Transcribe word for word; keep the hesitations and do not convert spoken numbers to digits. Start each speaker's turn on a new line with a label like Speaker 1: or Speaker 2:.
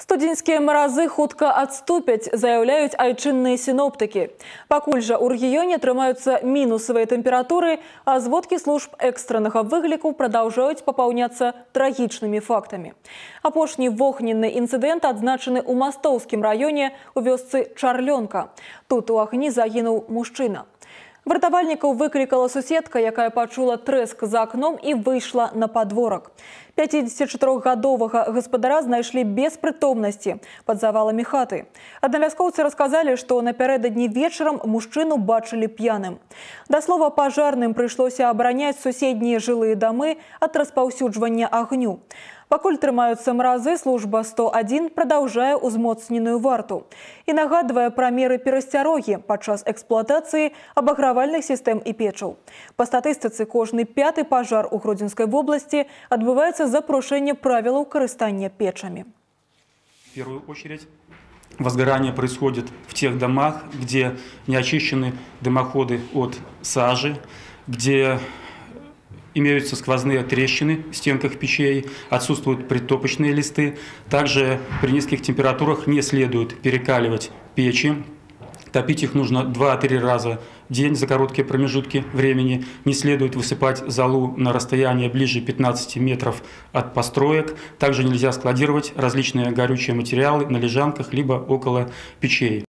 Speaker 1: Студзеньскія маразы хутка адступяць, заяўляюць айчынныя сіноптыкі. Пакуль жа ў рэгіёне трымаюцца мінусавыя тэмпературы, а зводкі служб экстраннага выгляку прадаўжаюць папаўняцца трагічнымі фактамі. Апошні вогненны інцыдэнт адзначаны ў Мастоўскім раёне у вёсцы Чарлёнка. Тут у агні загінуў мужчына. Вартавальнікаў выклікала суседка, якая пачула трэск за акном і выйшла на падворак. пяцідзесятчатырохгадовага гаспадара знайшлі без прытомнасці пад заваламі хаты. Аднавяскоўцы расказалі, што напярэдадні вечарам мужчыну бачылі п'яным. Да слова, пажарным прыйшлося абараняць суседнія жылыя дамы ад распаўсюджвання агню. Пакуль трымаюцца маразы, служба сто адзін прадаўжае ўзмоцненую варту і нагадвае пра меры перасцярогі падчас эксплуатацыі абагравальных сістэм і печаў. Па статыстыцы, кожны пяты пажар у Гродзенскай вобласці адбываецца за парушэнне правілаў карыстання печамі.
Speaker 2: В первую очередь возгорание происходит в тех домах, где не очищены дымоходы от сажи, где имеются сквозные трещины в стенках печей, отсутствуют притопочные листы. Также при низких температурах не следует перекаливать печи. Топить их нужно два-три раза в день за короткие промежутки времени. Не следует высыпать золу на расстояние ближе пятнадцати метров от построек. Также нельзя складировать различные горючие материалы на лежанках либо около печей.